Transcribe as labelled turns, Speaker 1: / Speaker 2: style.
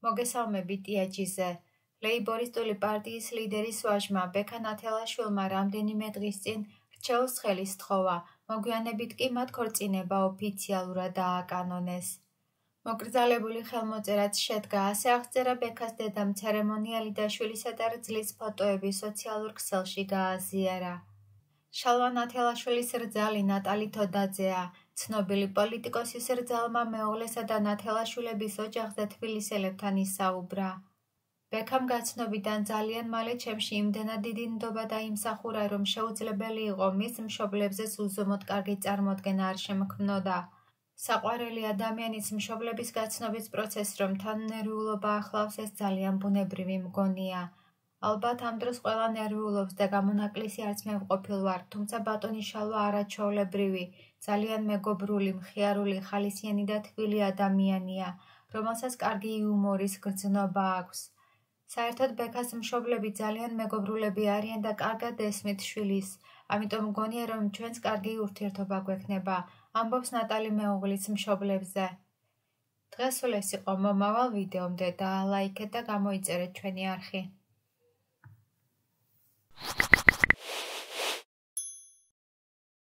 Speaker 1: მოგესალმებით იაჯიზე. ლეიბორისტული პარტიის ლიდერის ვაჟმა ბექა ნათელაშვილმა რამდენიმე დღის წინ რჩეულს ხელი სთხოვა, მოგვიანებით კი მათ ქორწინება ოფიციალურად დააკანონეს. მოკრძალებული ხელმოწერაც შედგა, ასე აღწერა ბექას დედამ ცერემონიალი და შვილისა და რძლის ფოტოები სოციალურ ქსელში გააზიარა. შალვა ნათელაშვილის რძალი ნატალი თოდაძეა, ცნობილი პოლიტიკოსის რძალმა მეუღლესა და ნათელაშვილების ოჯახზე თბილისელებთან ისაუბრა. ბექამ გაცნობიდან ძალიან მალე ჩემში იმდენად დიდი ნდობა დაიმსახურა, რომ შეუძლებელი იყო მის მშობლებზეც უზომოდ კარგი წარმოდგენა არ შემქმნოდა. საყვარელი ადამიანის მშობლების გაცნობის პროცესს რომ თან ნერვიულობა ახლავს, ეს ძალიან ბუნებრივი მგონია. ალბათ ამ დროს ყველა ნერვიულობს და გამონაკლისი არც მე ვყოფილ ვარ, თუმცა ბატონი შალვა არაჩვეულებრივი, ძალიან მეგობრული, მხიარული, ხალისიანი და თბილი ადამიანია, რომელსაც კარგი იუმორის გრძნობა აქვს. საერთოდ ბექას მშობლები ძალიან მეგობრულები არიან და კარგად ესმით შვილის, ამიტომ მგონია, რომ ჩვენს კარგი ურთიერთობა გვექნება, ამბობს ნატალი მეუღლის მშობლებზე. დღეს სულ ეს იყო მომავალ ვიდეომდე, დაალაიქეთ და გამოიწერეთ ჩვენი არხი.